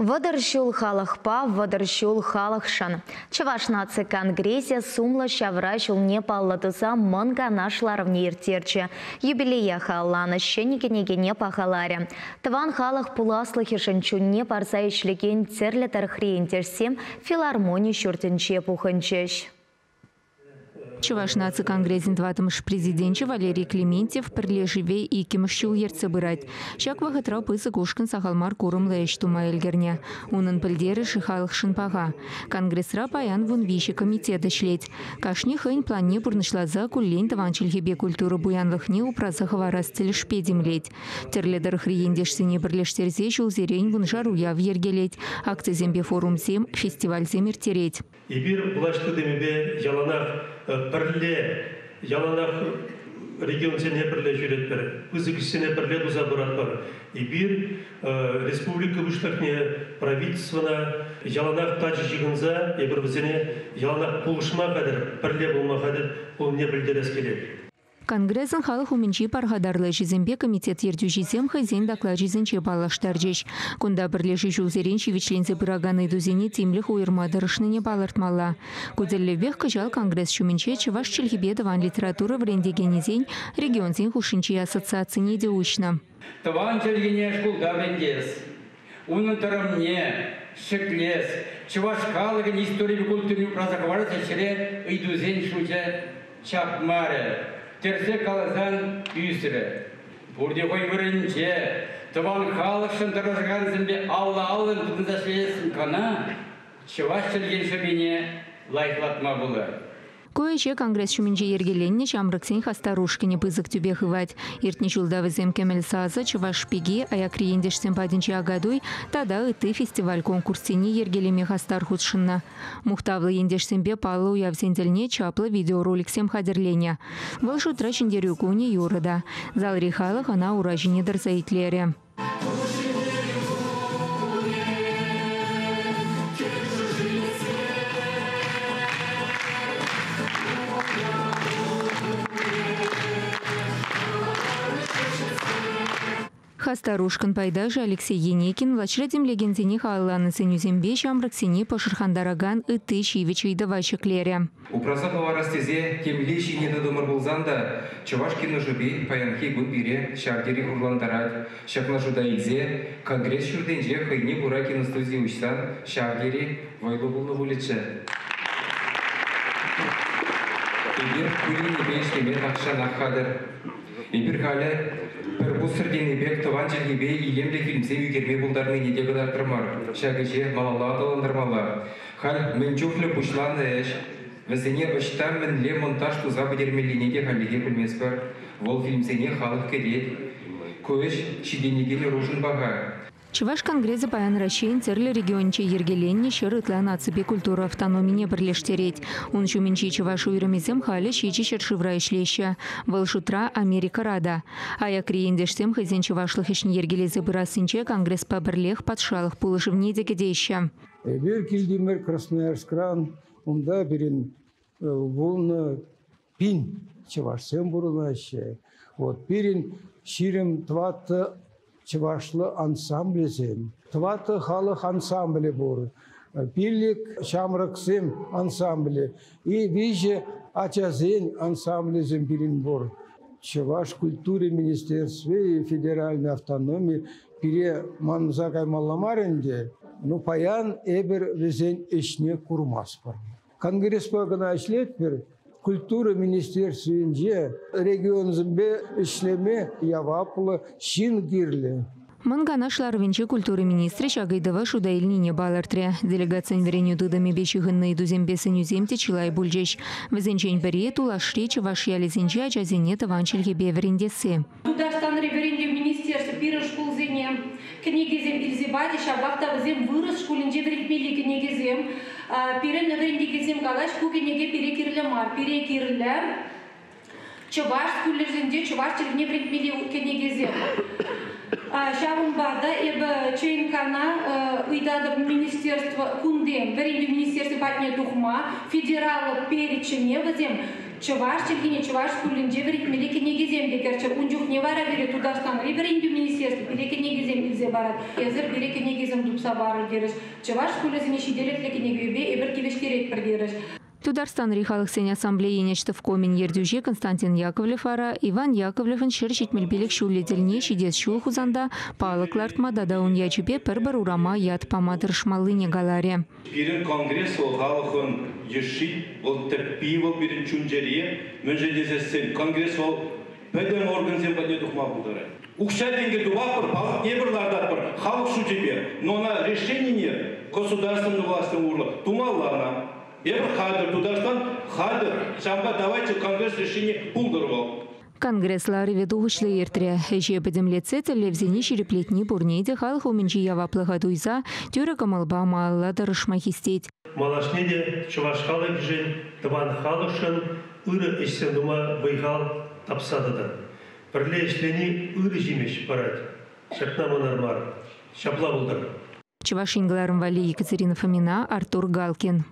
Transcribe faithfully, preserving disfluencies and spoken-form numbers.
Вӑтӑр ҫул халӑхпа, вӑтӑр ҫул халӑхшӑн. Чӑваш наци конгресӗ сумлӑ ҫавра ҫулне паллӑ туса мӑн канаш ларӑвне ирттерчӗ. Юбилее халалланӑ ҫӗнӗ кӗнекене пахаларӗ. Тӑван халӑх пуласлӑхӗшӗн чунне парса ӗҫлекен тӗрлӗ тӑрӑхри ентешсем филармони ҫуртӗнче пухӑнчӗҫ. Чӑваш наци конгресӗн тӑваттӑмӗш президенчӗ Валерий Клементьев пӗрлешӗве иккӗмӗш ҫул ертсе пырать. Ҫак вӑхӑтра пысӑк ушкӑн сахал мар курӑмлӑ ӗҫ тума ӗлкӗрнӗ. Унӑн пӗлтерӗшӗ халӑхшӑн паха. Конгресра паян вун виҫӗ комитет ӗҫлет. Кашни хӑйӗн планне пурнӑҫласа куллен тӑван чӗлхепе культура пуянлӑхне упраса хӑварас тӗлӗшпе тимлет. Тӗрлӗ тӑрӑхри ентешсене пӗрлештерсе ҫулсерен вуншар уяв йӗркелет. Акцисемпе форумсем, фестивальсем ирттерет. Эпир влаҫ тытӑмӗпе яланах пӗрле, яланах регионсене пӗрле ҫӳретпӗр, пысӑк ӗҫсене пӗрле туса пыратпӑр. Эпир республика пуҫлӑхне, правительствӑна яланах тачӑ ҫыхӑнса, эпир вӗсене яланах пулӑшма хатӗр, пӗрле пулма хатӗр пулнине пӗлтерес килет. Конгресӑн халӑх умӗнчи пархатарлӑ ӗҫӗсемпе комитет ертӳҫисем хӑйсен доклачӗсенче паллаштарчӗҫ. Кунта пӗрлешӳ ҫулсерен ҫивӗчленсе пыракан ыйтусене тимлӗх уйӑрма тӑрӑшнине палӑртмалла. Ку тӗллевпех кӑҫал Конгресс ҫумӗнче чӑваш чӗлхипе тӑван литература вӗрентекенӗсен регионсен хушшинчи ассоциацине те уҫнӑ. Тӑван чӗлхене шкулта вӗрентес, унӑн тӑрӑмне ҫӗклес, чӑваш халӑхӗн историпе культурине упраса хӑварас ӗҫре ыйтусен шучӗ чакмарӗ. Тӗрсе каласан ӳсрӗ. Пурте хӑй вырӑнӗнче, тӑван халӑхшӑн тӑрӑшакансемпе алла-аллӑн тытӑнса ӗҫлесен кӑна чӑваш чӗлхин шӑпине лайӑхлатма пулать. Ку ӗҫе Конгресс ҫумӗнче йӗркеленнӗ ҫамрӑксен хастар ушкӑнӗ пысӑк тӳпе хывать. Иртнӗ ҫулта вӗсем Кӗмӗл сасӑ, Чӑваш пики, аякри ентешсем патӗнче Акатуй тата ытти фестиваль-конкурссене йӗркелеме хастар хутшӑннӑ. Мухтавлӑ ентешсемпе паллӑ уявсен тӗлне чаплӑ видеороликсем хатӗрленӗ. Вӑл шутра Ҫӗнтерӳ кунӗ юрӑ та. Залри халӑх ӑна ура ҫине тӑрса итлерӗ. Хастар ушкӑн пайташӗ Алексей Еникин влаҫра тимлекенсене халалланӑ сӗнӳсемпе ҫамрӑксене пӑшӑрхантаракан ытти ҫивӗч ыйтӑва ҫӗклерӗ. Упраса хӑварас тесе темле ҫине тытӑмӑр пулсан та чӑваш киношӗпе паянхи кун пире ҫав тери хурлантарать. Ҫакна шута илсе Конгресс ҫуртӗнче хӑйне кура киностуди уҫсан ҫав тери вӑйлӑ пулнӑ пулӗччӗ. Эпир ку енӗпе ӗҫлеме тахҫанах хатӗр. Эпир халӗ пӗр пуссӑр тенӗ пек тӑван чӗлхепе илемлӗ фильмсем ӳкерме пултарнине те кӑтартрӑмӑр. Ҫак ӗҫе малалла аталантармалла. Халь мӗн чухлӗ пуҫланӑ ӗҫ, вӗсене ӑҫта мӗнле монтаж туса пӗтермеллине те хальлӗхе пӗлместпӗр. Вӑл фильмсене халӑх кӗтет. Ку ӗҫ ҫитӗнекен ӑрушӑн паха. Чӑваш конгресӗ паян Раҫҫейӗн тӗрлӗ регионӗнче йӗркеленнӗ ҫӗр ытла наципе культура автономине пӗрлештерет. Ун ҫумӗнчи чӑваш уйрӑмӗсем халӗ ҫичӗ ҫӗршывра ӗҫлеҫҫӗ. Вӑл шутра Америкӑра та. Аякри ентешсем хӑйсен чӑвашлӑх ӗҫне йӗркелесе пырассинче Конгреспа пӗрлех патшалӑх пулӑшӑвне те кӗтеҫҫӗ. Эпир килтӗмӗр Красноярскран, унта пирӗн вунӑ пин чӑвашсем пурӑнаҫҫӗ. Вот пирӗн ҫирӗм тӑваттӑ чӑвашлӑ ансамблӗсем, тӑваттӑ халӑх ансамблӗ пур, пилӗк ҫамрӑксем ансамблӗ и виҫӗ ачасен ансамблӗсем пирӗн пур. Чӑваш культури министерстви и федеральной автономи пире манса каймалла мар ӗнтӗ. Ну, паян эпир вӗсен ӗҫне курмастпӑр. Конгреспа кӑна ӗҫлетпӗр. Культура министерствинче регионсемпе ӗҫлеме яваплӑ ҫын кирлӗ. Мӑн канаш ларӑвӗнче культура министрӗ ҫак ыйтӑва шута илнине палӑртрӗ. Делегацин вӗренӳ тытӑмӗпе ҫыхӑннӑ ыйтусемпе сӗнӳсем те чылай пулчӗҫ. Вӗсенчен пӗри тулашри чӑваш ялӗсенче ачасене тӑван чӗлхепе вӗрентесси. Тутарстанри вӗрентӳ министерстви пирӗн шкулсене кӗнекесем илсе пачӗ, ҫапах та вӗсем вырӑс шкулӗнче вӗрентмелли кӗнекесем. Пирӗн вӗрентекенсем калаҫ, ку кӗнеке пире кирлӗ мар, пире кирлӗ чӑваш шкулӗсенче чӑваш чӗлхине вӗрентмелли кӗнекесем. Ҫавӑнпа та эпӗ ЧНКна ыйтатӑп министерство кунти вӗрентӳ министерстви патне тухма федераллӑ перечӗне вӗсем чӑваш чӗлхине чӑваш шкулӗнче вӗрентмелли кӗнекесем те кӗрччӗр. Ун чухне вара пире Тутарстанри вӗрентӳ министерстви пире кӗнекесем илсе парать. Эсир пире кӗнекесем тупса парӑр терӗҫ. Чӑваш шкулӗсене ҫителӗклӗ кӗнекепе эпир тивӗҫтеретпӗр терӗҫ. Тутарстанри халӑхсен ассамблейин ӗҫтӑвкомӗн ертӳҫи Константин Яковлев вара Иван Яковлевӑн ҫӗр ҫитмӗл пилӗк ҫулӗ тӗлне ҫитес ҫул Хусанта палӑк лартма тата ун ячӗпе пӗр-пӗр урама ят пама тӑрӑшмаллине каларӗ. Пирӗн конгресс вӑл халӑхӑн йышши, вӑл тӗппи, вӑл пирӗн чун-чӗре. Мӗншӗн тесессӗн конгресс вӑл пӗтӗм органсем патне тухма пултарать. Укҫа-тенкӗ тупатпӑр, палӑкне пӗр лартатпӑр, халӑх шучӗпе. Но ӑна решенине государственнӑй влаҫсем урлӑ тумалла ӑна. Эпир хатӗр, Тутарстан хатӗр. Ҫавӑнпа давайте конгресс решени пултӑр вӑл. Конгресс ларӑвӗ тухӑҫлӑ иртрӗ. Ӗҫе пӗтӗмлетсе тӗллевсене ҫирӗплетни пурне те халӑх умӗнчи яваплӑха туйса тӳрӗ кӑмӑлпа малалла тӑрӑшма хистет. Малашне те чӑваш халӑхӗшӗн, тӑван халӑхшӑн ырӑ ӗҫсем тума вӑй-хал тапса тӑтӑр. Пӗрле ӗҫлени ырӑ ҫимӗҫ парать. Ҫакна манар мар. Ҫапла пултӑр. Чӑваш Ен кӑларӑм валли Екатерина Фомина, Артур Галкин.